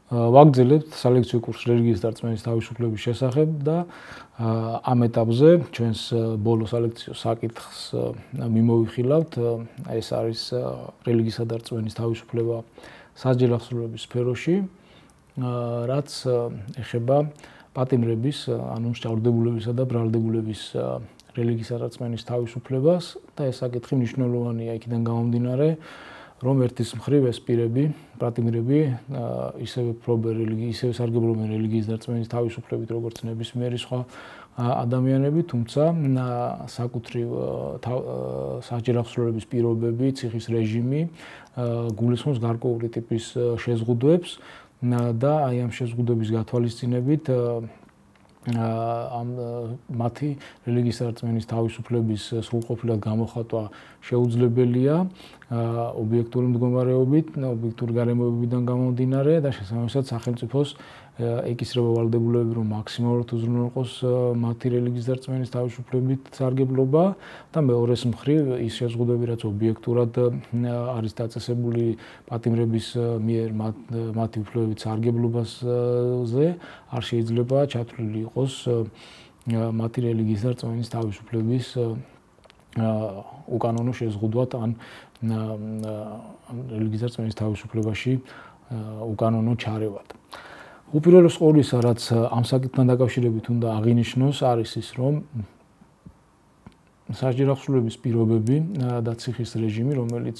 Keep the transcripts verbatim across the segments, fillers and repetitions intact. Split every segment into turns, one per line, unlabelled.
ვაგრძელებთ სალექციო კურსს რელიგიის დარწმენის თავისუფლების შესახებ და ამ ეტაპზე ჩვენს ბოლო სალექციო საკითხს მიმოვიხილავთ. ეს არის რელიგიისა დარწმენის თავისუფლება სასჯელ აღსრულების სფეროში, რაც ეხება პატიმრების, ანუ მსჯავრდებულებისა და ბრალდებულების რელიგიისა დარწმენის თავისუფლებას და ეს საკითხი მნიშვნელოვანია იქიდან გამომდინარე, რომ ერთის მხრივ ეს პირები, პატიმრები, ისევე ფლობენ რელიგიის, ისევე სარგებლობენ რელიგიის დარწმენის თავისუფლებით, როგორც ნებისმიერი სხვა ადამიანები, თუმცა საკუთრივ სასჯელ აღსრულების პირობები, ციხის რეჟიმი გულისხმობს გარკვეული ტიპის შეზღუდვებს და აი ამ შეზღუდვების გათვალისწინებით ამ მათი რელიგიის დარწმენის თავისუფლების სრულყოფილად გამოხატვა შეუძლებელია ობიექტური მდგომარეობით, ობიექტური გარემოებებიდან გამომდინარე და შესაბამისად სახელმწიფოს ეკისრება ვალდებულებები, რომ მაქსიმალურად უზრუნველყოს მათი რელიგიის დარწმენის თავისუფლებით სარგებლობა და მეორეს მხრივ ის შეზღუდვები, რაც ობიექტურად არის დაწესებული პატიმრების მიერ მათი უფლებებით სარგებლობაზე, არ შეიძლება ჩათვლილი იყოს მათი რელიგიის დარწმენის თავისუფლების უკანონო შეზღუდვად ან რელიგიის დარწმენის თავისუფლებაში უკანონო ჩარევად. უპირველეს ყოვლისა, რაც ამ საკითხთან დაკავშირებით უნდა აღინიშნოს, არის ის, რომ სასჯელ აღსრულების პირობები და ციხის რეჟიმი, რომელიც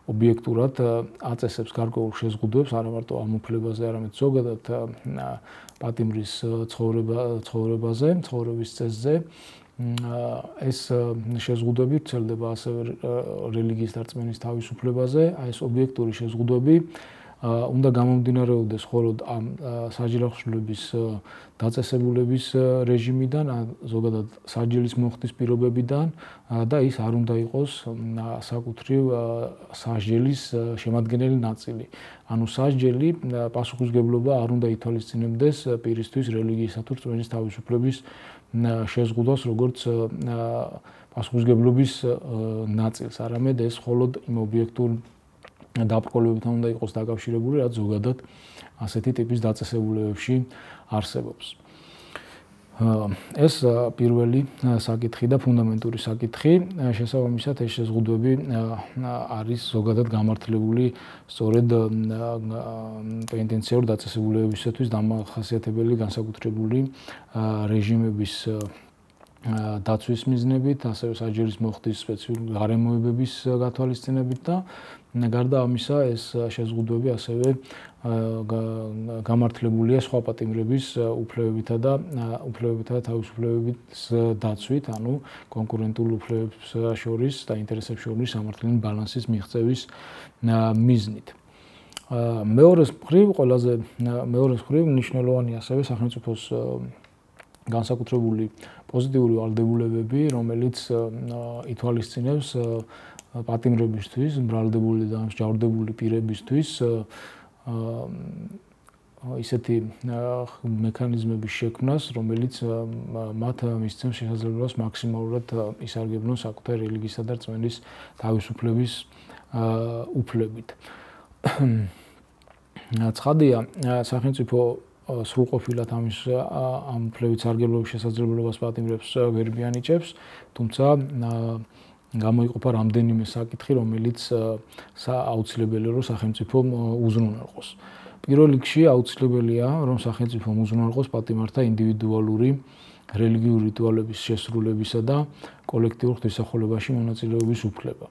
ობიექტურად აწესებს გარკვეულ შეზღუდვებს, არა მარტო ამ უფლებაზე, არამედ ზოგადად პატიმრის ცხოვრებაზე, ცხოვრების წესზე, ეს შეზღუდვები ვრცელდება ასევე რელიგიის დარწმენის თავისუფლებაზე, აი ეს ობიექტური შეზღუდვები უნდა გამომდინარეობდეს მხოლოდ ამ სასჯელ აღსრულების დაწესებულების რეჟიმიდან, ზოგადად სასჯელის მოხდის პირობებიდან და ის არ უნდა იყოს საკუთრივ სასჯელის შემადგენელი ნაწილი. ანუ სასჯელი პასუხისმგებლობა არ უნდა ითვალისწინებდეს პირისთვის რელიგიისა თუ რწმენის თავისუფლების შეზღუდვას, როგორც პასუხისმგებლობის ნაწილს, არამედ ეს მხოლოდ იმ ობიექტურ დაბრკოლებებთან უნდა იყოს დაკავშირებული, რაც ზოგადად ასეთი ტიპის დაწესებულებებში არსებობს. ეს პირველი საკითხი და ფუნდამენტური საკითხი, შესაბამისად ეს შეზღუდვები არის ზოგადად გამართლებული სწორედ პენიტენციარულ დაწესებულებებისათვის დამახასიათებელი განსაკუთრებული რეჟიმების დაცვის მიზნებით, ასევე სასჯელის მოხდის სპეციფიკური გარემოებების გათვალისწინებით და გარდა ამისა ეს შეზღუდვები ასევე გამართლებულია სხვა პატიმრების უფლებებითა და უფლებებითა და თავისუფლებების დაცვით, ანუ კონკურენტულ უფლებებს შორის და ინტერესებს შორის სამართლიანი ბალანსის მიღწევის მიზნით. მეორეს მხრივ, ყველაზე მეორეს მხრივ მნიშვნელოვანი ასევე სახელმწიფოს განსაკუთრებული პოზიტიური ვალდებულებები, რომელიც ითვალისწინებს პატიმრებისთვის, ბრალდებული და მსჯავრდებული პირებისთვის ისეთი მექანიზმების შექმნას, რომელიც მათ მისცემს შესაძლებლობას მაქსიმალურად ისარგებლონ საკუთარი რელიგიისა და რწმენის თავისუფლების უფლებით. ცხადია, სახელმწიფო სრულყოფილად ამის ამ უფლებით სარგებლობის შესაძლებლობას პატიმრებს ვერ მიანიჭებს, თუმცა გამოიყოფა რამდენიმე საკითხი, რომელიც აუცილებელია, რომ სახელმწიფო უზრუნველყოს. პირველ რიგში აუცილებელია, რომ სახელმწიფო უზრუნველყოს პატიმართა ინდივიდუალური რელიგიური რიტუალების შესრულებისა და კოლექტიურ ღვთისმსახურებაში მონაწილეობის უფლება.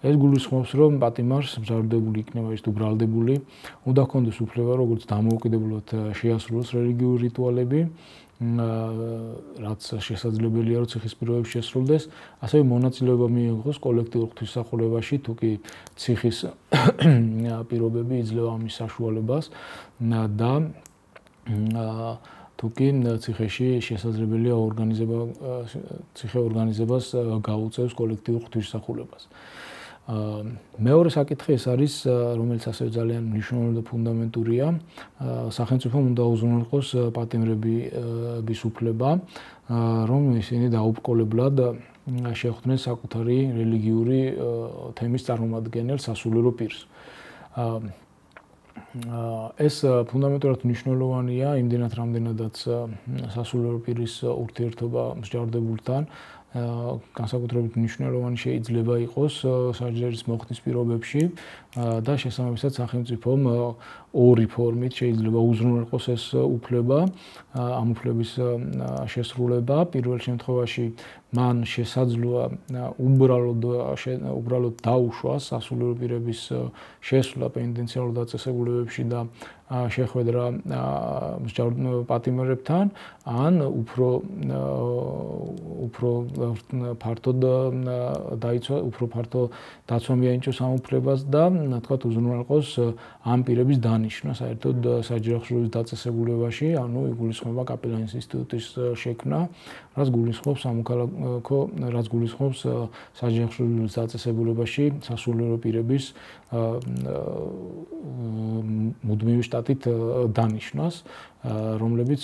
ეს გულისხმობს, რომ პატიმარს მსჯავრდებული იქნება ის თუ ბრალდებული, უნდა ჰქონდეს უფლება როგორც დამოუკიდებლად შეასრულოს რელიგიური რიტუალები, რაც შესაძლებელია, რომ ციხის პირობებში შესრულდეს, ასევე მონაწილეობა მიიღოს კოლექტიურ ღვთისმსახურებაში, თუ კი ციხის პირობები იძლევა ამის საშუალებას და თუ კი ციხეში შესაძლებელია ორგანიზება ციხე ორგანიზებას გაუწევს კოლექტიურ ღვთისმსახურებას. მეორე საკითხი ეს არის, რომელიც ასევე ძალიან მნიშვნელოვანი და ფუნდამენტურია, სახელმწიფომ უნდა უზრუნველყოს პატიმრების უფლება, რომ ისინი დაუბრკოლებლად შეხვდნენ საკუთარი რელიგიური თემის წარმომადგენელს, სასულიერო პირს. ეს ფუნდამენტურად მნიშვნელოვანია იმდენად, რამდენადაც სასულიერო პირის ურთიერთობა მსჯავრდებულთან განსაკუთრებით მნიშვნელოვანი შეიძლება იყოს საჯარის მოხდის პირობებში და შესაბამისად სახელმწიფომ ორი ფორმით შეიძლება უზრუნველყოს ეს უფლება, ამ უფლების შესრულება. პირველ შემთხვევაში მან შესაძლოა უბრალოდ უბრალოდ დაუშვას სასულიერო პირების შესვლა პენიტენციარულ დაწესებულებებში და შეხვედრა მსჯავრ პატიმრებთან, ან უფრო უფრო ფართოდ დაიცვა, უფრო ფართო დაცვა მიენიჭოს ამ უფლებას და თქვათ უზრუნველყოს ამ პირების დანიშვნა საერთოდ საჯარო დაწესებულებაში, ანუ იგულისხმება კაპელანის ინსტიტუტის შექმნა, რაც გულისხმობს სამოქალაქო, რაც გულისხმობს საჯარო დაწესებულებაში სასულიერო პირების მუდმივი შტატით დანიშვნას, რომლებიც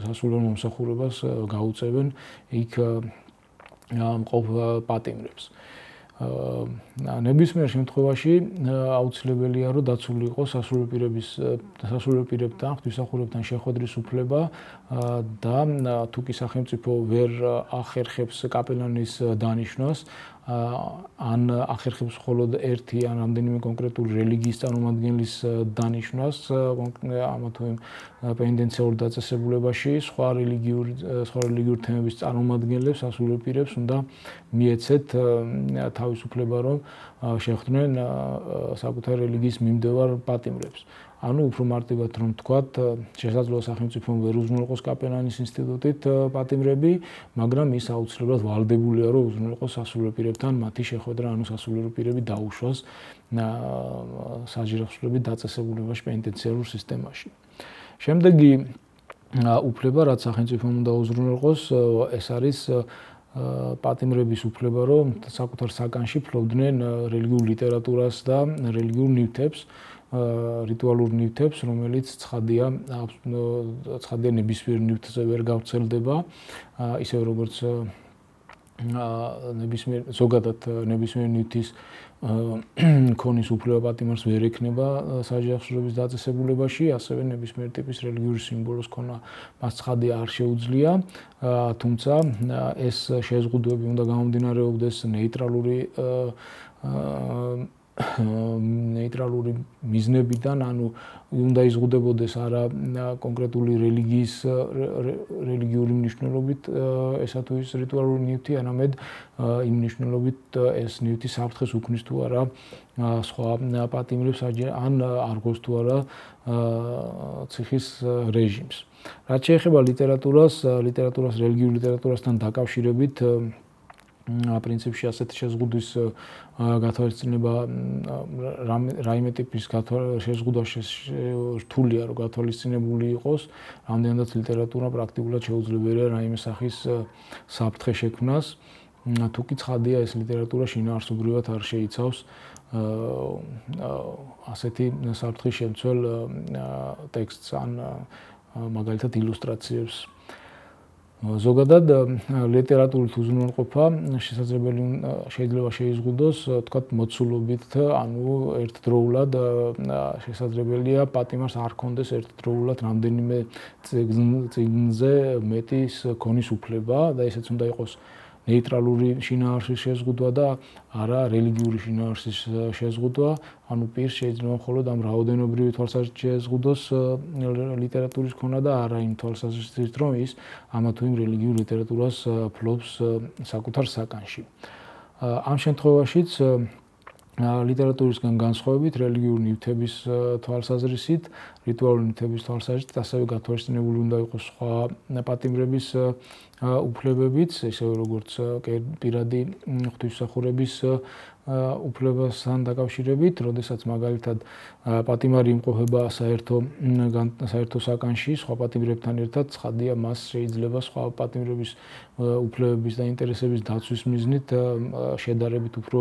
სასულიერო მომსახურებას გაუწევენ იქ მყოფ პატიმრებს. ნებისმიერ შემთხვევაში აუცილებელია, რომ დაცული იყოს სასულიერო პირების სასულიერო პირებთან, ღვთისმსახურებთან შეხვედრის უფლება და თუ კი სახელმწიფო ვერ ახერხებს კაპელანის დანიშვნას, ან ახერხებს მხოლოდ ერთი ან რამდენიმე კონკრეტული რელიგიის წარმომადგენლის დანიშვნას ამა თუ იმ პენიტენციარულ დაწესებულებაში, სხვა რელიგიური სხვა რელიგიური თემების წარმომადგენლებს, სასულიერო პირებს უნდა მიეცეთ თავისუფლება, რომ შეხვდნენ საკუთარი რელიგიის მიმდევარ პატიმრებს. ანუ უფრო მარტივად რომ ვთქვათ, შესაძლოა სახელმწიფომ ვერ უზრუნველყოს კაპელანის ინსტიტუტით პატიმრები, მაგრამ ის აუცილებლად ვალდებულია, რომ უზრუნველყოს სასულიერო პირებთან მათი შეხვედრა, ანუ სასულიერო პირები დაუშვას საჯარო დაწესებულებაში პენიტენციარულ სისტემაში. შემდეგი უფლება, რაც სახელმწიფომ უნდა უზრუნველყოს, ეს არის პატიმრების უფლება, რომ საკუთარ საკანში ფლობდნენ რელიგიურ ლიტერატურას და რელიგიურ ნივთებს, რიტუალურ ნივთებს, რომელიც ცხადია ცხადია ნებისმიერ ნივთზე ვერ გავრცელდება, ისე როგორც ნებისმიერ ზოგადად ნებისმიერ ნივთის ქონის უფლება პატიმარს ვერ ექნება საჯარო დაწესებულებაში, ასევე ნებისმიერ ტიპის რელიგიური სიმბოლოს ქონა მას ცხადია არ შეუძლია, თუმცა ეს შეზღუდვები უნდა გამომდინარეობდეს ნეიტრალური ნეიტრალური მიზნებიდან, ანუ უნდა იზღუდებოდეს არა კონკრეტული რელიგიის რელიგიური მნიშვნელობით ესა თუ ის რიტუალური ნივთი, არამედ იმ მნიშვნელობით ეს ნივთი საფრთხეს უქმნის თუ არა სხვა პატიმრებს ან არგოს თუ არა ციხის რეჟიმს. რაც შეეხება ლიტერატურას, ლიტერატურას რელიგიურ ლიტერატურასთან დაკავშირებით პრინციპში ასეთი შეზღუდვის გათვალისწინება რაიმე ტიპის შეზღუდვა რთულია, რომ გათვალისწინებული იყოს, რამდენადაც ლიტერატურა პრაქტიკულად შეუძლებელია რაიმე სახის საფრთხე შექმნას, თუ კი ცხადია ეს ლიტერატურა შინაარსობრივად არ შეიცავს ასეთი საფრთხის შემცველ ტექსტს ან მაგალითად ილუსტრაციებს. ზოგადად ლიტერატურით უზრუნველყოფა შესაძლებელი შეიძლება შეიზღუდოს, თქვათ, მოცულობით, ანუ ერთდროულად შესაძლებელია პატიმარს არ ჰქონდეს ერთდროულად რამდენიმე წიგნზე მეტის ქონის უფლება და ესეც უნდა იყოს ნეიტრალური შინაარსის შეზღუდვა და არა რელიგიური შინაარსის შეზღუდვა, ანუ პირს შეიძლება მხოლოდ ამ რაოდენობრივი თვალსაზრისით შეზღუდოს ლიტერატურის ქონა და არა იმ თვალსაზრისით, რომ ის ამა თუ იმ რელიგიურ ლიტერატურას ფლობს საკუთარ საკანში. ამ შემთხვევაშიც ლიტერატურისგან განსხვავებით რელიგიური ნივთების თვალსაზრისით, რიტუალური ნივთების თვალსაზრისით ასევე გათვალისწინებული უნდა იყოს სხვა პატიმრების უფლებებიც, ისევე როგორც პირადი ღვთისმსახურების უფლებასთან დაკავშირებით, როდესაც მაგალითად პატიმარი იმყოფება საერთო საერთო საკანში, სხვა პატიმრებთან ერთად, ცხადია მას შეიძლება სხვა პატიმრების უფლებების და ინტერესების დაცვის მიზნით შედარებით უფრო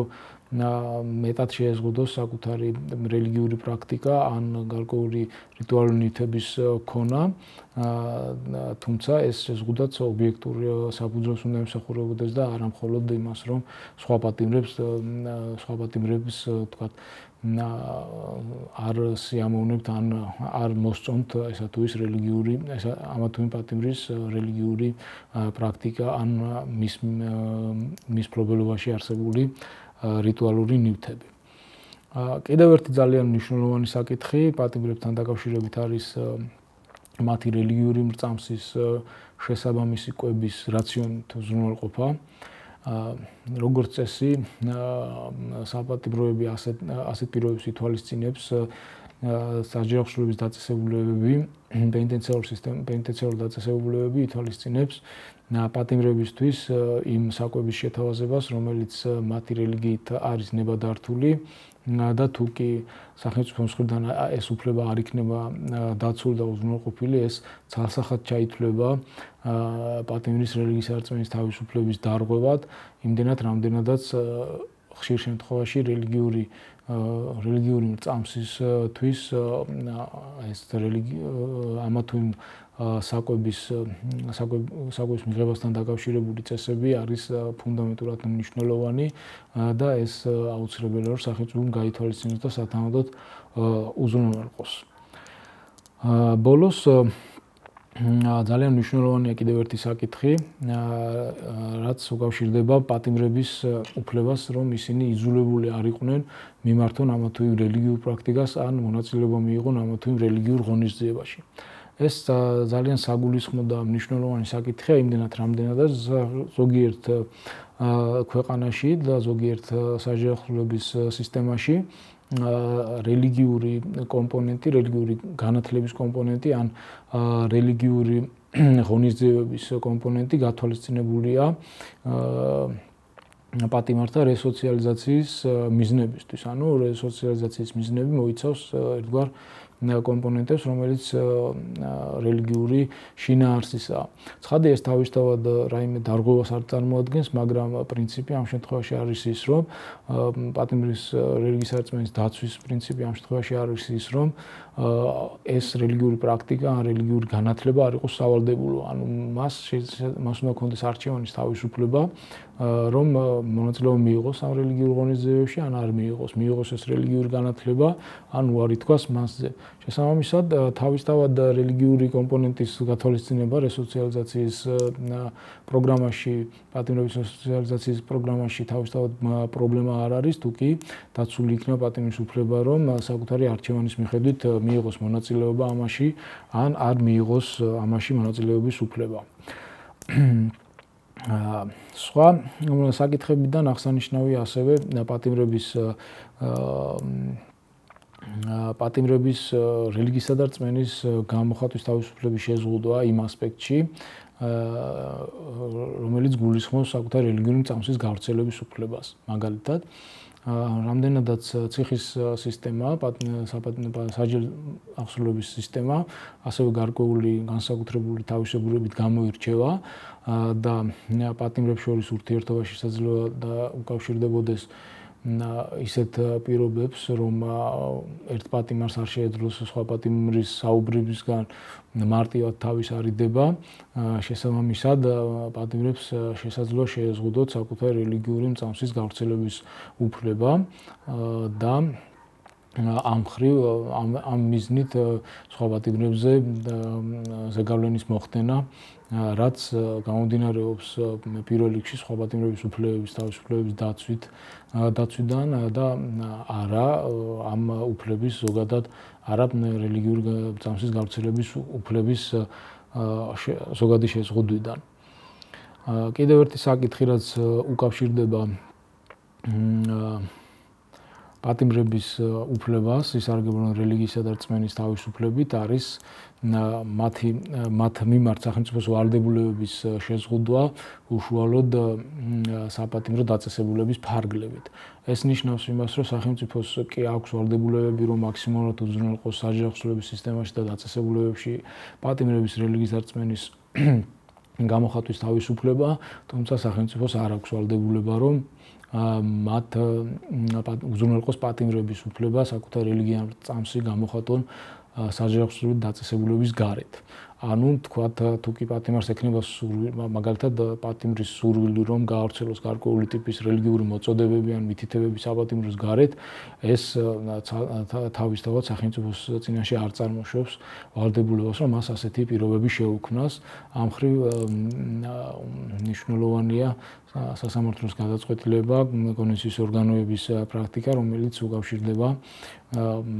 მეტად შეეზღუდოს საკუთარი რელიგიური პრაქტიკა ან გარკვეული რიტუალური ნივთების ქონა, თუმცა ეს შეზღუდვაც ობიექტუალურად დემოკრატიულ საფუძველს უნდა ემსახურებოდეს და არა მხოლოდ იმას, რომ სხვა პატიმრებს სხვა პატიმრებს თქვათ არ სიამოვნებთ ან არ მოსწონთ ესა თუ ის რელიგიური ესა ამა თუ იმ პატიმრის რელიგიური პრაქტიკა ან მის მის მფლობელობაში არსებული რიტუალური ნივთები. კიდევ ერთი ძალიან მნიშვნელოვანი საკითხი პატიმრებთან დაკავშირებით არის მათი რელიგიური მრწამსის შესაბამისი კვების რაციონით უზრუნველყოფა. როგორც წესი, საპატიმროები ასეთ ასეთ პირობებს ითვალისწინებს საჯარო დაწესებულებები, პენიტენციარული სისტემა, პენიტენციარული დაწესებულებები ითვალისწინებს პატიმრებისთვის იმ საკვების შეთავაზებას, რომელიც მათი რელიგიით არის ნებადართული და თუ კი სახელმწიფო მხრიდან ეს უფლება არ იქნება დაცული და უზრუნველყოფილი, ეს ცალსახად ჩაითვლება პატიმრის რელიგიის არწმენის თავისუფლების დარღვევად, იმდენად რამდენადაც ხშირ შემთხვევაში რელიგიური რელიგიური მრწამსისთვის ეს რელიგია ამა თუ იმ საკვების საკვების მიღებასთან დაკავშირებული წესები არის ფუნდამენტურად მნიშვნელოვანი და ეს აუცილებელია რომ სახელმწიფომ გაითვალისწინოს და სათანადოდ უზრუნველყოს. ბოლოს ძალიან მნიშვნელოვანია კიდევ ერთი საკითხი, რაც უკავშირდება პატიმრების უფლებას, რომ ისინი იძულებული არ იყვნენ მიმართონ ამა თუ იმ რელიგიურ პრაქტიკას ან მონაწილეობა მიიღონ ამა თუ იმ რელიგიურ ღონისძიებაში. ეს ძალიან საგულისხმო და მნიშვნელოვანი საკითხია იმდენად რამდენადაც ზოგიერთ ქვეყანაში და ზოგიერთ საჯარო სისტემაში რელიგიური კომპონენტი, რელიგიური განათლების კომპონენტი ან რელიგიური ღონისძიებების კომპონენტი გათვალისწინებულია პატიმართა რესოციალიზაციის მიზნებისთვის. ანუ რესოციალიზაციის მიზნები მოიცავს ერთგვარ კომპონენტებს, რომელიც რელიგიური შინაარსისაა. ცხადი ეს თავისთავად რაიმე დარღვევას არ წარმოადგენს, მაგრამ პრინციპი ამ შემთხვევაში არის ის, რომ პატიმრის რელიგიის არწმენის დაცვის პრინციპი ამ შემთხვევაში არის ის, რომ ეს რელიგიური პრაქტიკა ან რელიგიური განათლება არ იყოს სავალდებულო. ანუ მას მას უნდა ქონდეს არჩევანის თავისუფლება, რომ მონაწილეობა მიიღოს ამ რელიგიურ ღონისძიებებში, ან არ მიიღოს, მიიღოს ეს რელიგიური განათლება, ან უარი თქვას მასზე. შესაბამისად, თავისთავად რელიგიური კომპონენტის გათვალისწინება რესოციალიზაციის პროგრამაში, პატიმრების რესოციალიზაციის პროგრამაში თავისთავად პრობლემა არ არის, თუკი დაცული იქნება პატიმრის უფლება, რომ საკუთარი არჩევანის მიხედვით მიიღოს მონაწილეობა ამაში, ან არ მიიღოს ამაში მონაწილეობის უფლება. სხვა საკითხებიდან აღსანიშნავია ასევე პატიმრების პატიმრების რელიგიისა და რწმენის გამოხატვის თავისუფლების შეზღუდვა იმ ასპექტში, რომელიც გულისხმობს საკუთარი რელიგიური მრწამსის გავრცელების უფლებას. მაგალითად, რამდენადაც ციხის სისტემა, საჯარო აღსრულების სისტემა, ასევე გარკვეული განსაკუთრებული თავისებურებით გამოირჩევა და პატიმრებს შორის ურთიერთობა შესაძლოა და უკავშირდებოდეს ისეთ პირობებს, რომ ერთ პატიმარს არ შეეძლოს სხვა პატიმრის საუბრებისგან მარტივად თავის არიდება, შესაბამისად პატიმრებს შესაძლოა შეეზღუდოთ საკუთარი რელიგიური მრწამსის გავრცელების უფლება და ამ ხრივ ამ მიზნით სხვა პატიმრებზე ზეგავლენის მოხდენა, რაც გამომდინარეობს პირველ რიგში სხვა პატიმრების უფლებების თავისუფლების დაცვით დაცვიდან და არა ამ უფლების ზოგადად არა რელიგიური მრწამსის გავრცელების უფლების ზოგადი შეზღუდვიდან. კიდევ ერთი საკითხი, რაც უკავშირდება პატიმრების უფლებას ისარგებლონ რელიგიისა და რწმენის თავისუფლებით, არის მათი მათ მიმართ სახელმწიფოს ვალდებულებების შეზღუდვა უშუალოდ საპატიმრო დაწესებულების ფარგლებით. ეს ნიშნავს იმას, რომ სახელმწიფოს კი აქვს ვალდებულებები, რომ მაქსიმალურად უზრუნველყოს საჯარო აღსრულების სისტემაში და დაწესებულებებში პატიმრების რელიგიის და რწმენის გამოხატვის თავისუფლება, თუმცა სახელმწიფოს არ აქვს ვალდებულება, რომ მათ უზრუნველყოს პატიმრების უფლება საკუთარ რელიგიურ მრწამსი გამოხატონ საჯარისხლივი დაწესებულების გარეთ. ანუ თქვათ თუ კი პატიმარს ექნება მაგალითად პატიმრის სურვილი რომ გაავრცელოს გარკვეული ტიპის რელიგიური მოწოდებები ან მითითებები საპატიმროს გარეთ, ეს თავისთავად სახელმწიფოს წინაშე არ წარმოშობს ვალდებულებას, რომ მას ასეთი პირობები შეუქმნას. ამ მხრივ მნიშვნელოვანია სასამართლოს გადაწყვეტილება, კონვენციის ორგანოების პრაქტიკა, რომელიც უკავშირდება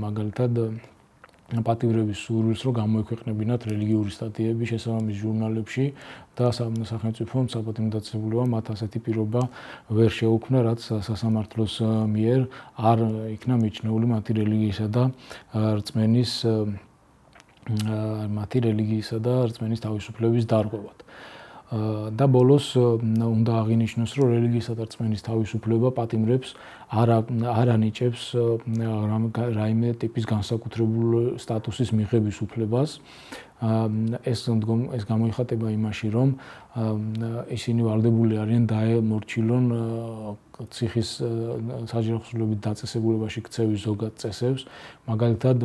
მაგალითად პატიმრების სურვილს, რომ გამოექვეყნებინათ რელიგიური სტატიები შესაბამის ჟურნალებში და სახელმწიფომ საპატიმრო დაწესებულებამ მათ ასეთი პირობა ვერ შეუქმნა, რაც სასამართლოს მიერ არ იქნა მიჩნეული მათი რელიგიისა და რწმენის მათი რელიგიისა და რწმენის თავისუფლების დარღვევად. და ბოლოს უნდა აღინიშნოს, რომ რელიგიისა და რწმენის თავისუფლება პატიმრებს არ არ ანიჭებს რაიმე ტიპის განსაკუთრებული სტატუსის მიღების უფლებას. ეს ეს გამოიხატება იმაში, რომ ისინი ვალდებული არიან დაემორჩილონ ციხის საჯარისხლივით დაწესებულებაში ქცევის ზოგად წესებს, მაგალითად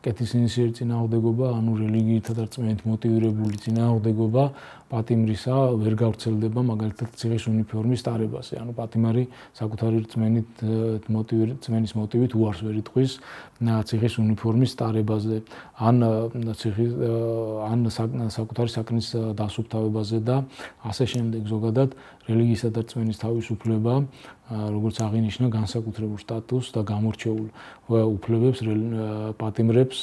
კეთილსინისიერი წინააღმდეგობა, ანუ რელიგიითა და რწმენით მოტივირებული წინააღმდეგობა პატიმრისა ვერ გავრცელდება მაგალითად ციხის უნიფორმის ტარებაზე. ანუ პატიმარი საკუთარი რწმენით რწმენის მოტივით უარს ვერ იტყვის ციხის უნიფორმის ტარებაზე, ან ციხის ან საკუთარი საქმის დასუფთავებაზე და ასე შემდეგ. ზოგადად რელიგიისა და რწმენის თავისუფლება, როგორც აღინიშნა, განსაკუთრებულ სტატუსს და გამორჩეულ უფლებებს პატიმრებს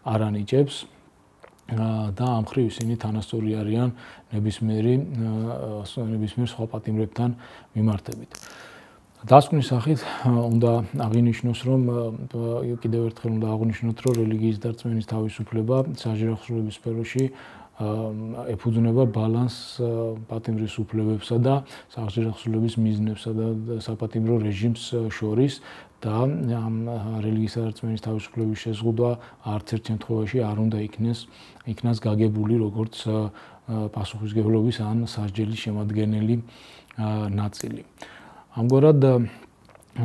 არ ანიჭებს და ამ მხრივ ისინი თანასწორი არიან ნებისმიერი ნებისმიერ სხვა პატიმრებთან მიმართებით. დასკვნის სახით უნდა აღინიშნოს, რომ კიდევ ერთხელ უნდა აღნიშნოთ, რომ რელიგიის და რწმენის თავისუფლება საჯარისხლივების სფეროში ეფუძნება ბალანსს პატიმრის უფლებებსა და საჯარისხლივების მიზნებსა და საპატიმრო რეჟიმს შორის და ამ რელიგიისა და რწმენის თავისუფლების შეზღუდვა არც ერთ შემთხვევაში არ უნდა იქნეს იქნას გაგებული როგორც პასუხისმგებლობის ან სასჯელის შემადგენელი ნაწილი. ამგვარად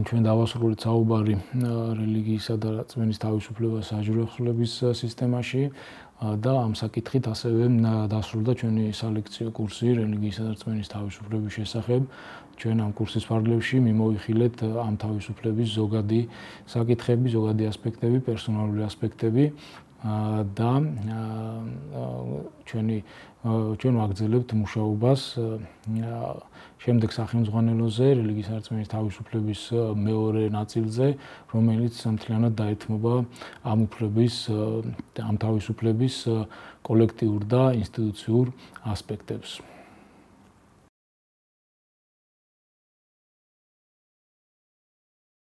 ჩვენ დავასრულეთ საუბარი რელიგიისა და რწმენის თავისუფლებას საჯარისხლივების სისტემაში და ამ საკითხით ასევე დასრულდა ჩვენი სალექციო კურსი რელიგიისა და რწმენის თავისუფლების შესახებ. ჩვენ ამ კურსის ფარგლებში მიმოვიხილეთ ამ თავისუფლების ზოგადი საკითხები, ზოგადი ასპექტები, პერსონალური ასპექტები და ჩვენი ჩვენ ვაგრძელებთ მუშაობას შემდეგ სახელმძღვანელოზე რელიგიისა და რწმენის თავისუფლების მეორე ნაწილზე, რომელიც მთლიანად დაეთმობა ამ უფლების ამ თავისუფლების კოლექტიურ და ინსტიტუციურ ასპექტებს.